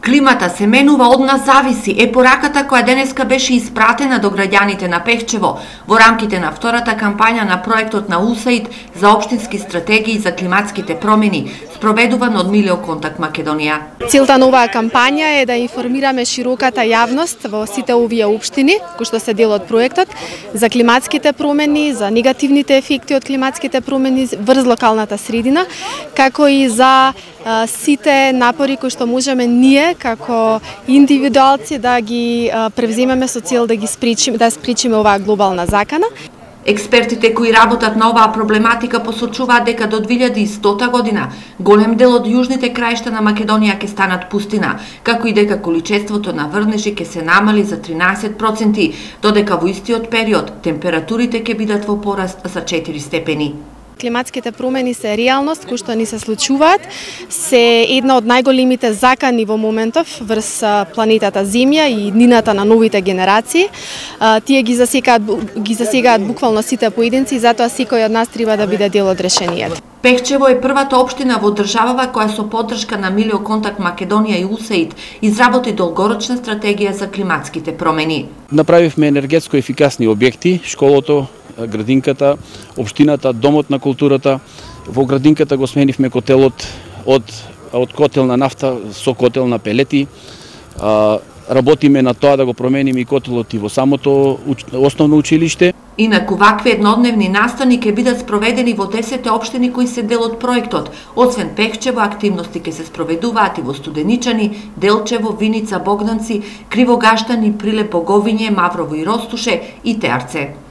Климата се менува, од нас зависи е пораката која денеска беше испратена до граѓаните на Пехчево во рамките на втората кампања на проектот на USAID за општински стратегии за климатските промени, спроведуван од Милио Контакт Македонија. Целта на оваа кампања е да информираме широката јавност во сите овие општини кои што се дел од проектот за климатските промени, за негативните ефекти од климатските промени врз локалната средина, како и за сите напори кои што можеме ние како индивидуалци да ги превземеме со цел да спречиме оваа глобална закана. Експертите кои работат на оваа проблематика посочуваат дека до 2100 година голем дел од јужните краишта на Македонија ќе станат пустина, како и дека количеството на врнежи ќе се намали за 13%, додека во истиот период температурите ќе бидат во пораст за 4 степени. Климатските промени се реалност кои што ни се случуваат, се една од најголемите закани во моментов врз планетата Земја и иднината на новите генерации. Тие ги засегаат буквално сите поединци и затоа секој од нас треба да биде дел од решението. Пехчево е првата општина во државава која со поддршка на Милио Контакт Македонија и USAID изработи долгорочна стратегија за климатските промени. Направивме енергетско ефикасни објекти, школото, градинката, општината, домот на културата. Во градинката го сменивме котелот од котел на нафта со котел на пелети. Работиме на тоа да го промениме и котелот и во самото основно училиште. Инаку вакви еднодневни настани ќе бидат спроведени во 10 општини кои се дел од проектот. Освен Пехчево, активности ќе се спроведуваат и во Студеничани, Делчево, Виница, Богданци, Кривогаштани, Прилеп, Боговиње, Маврово и Ростуше и Теарце.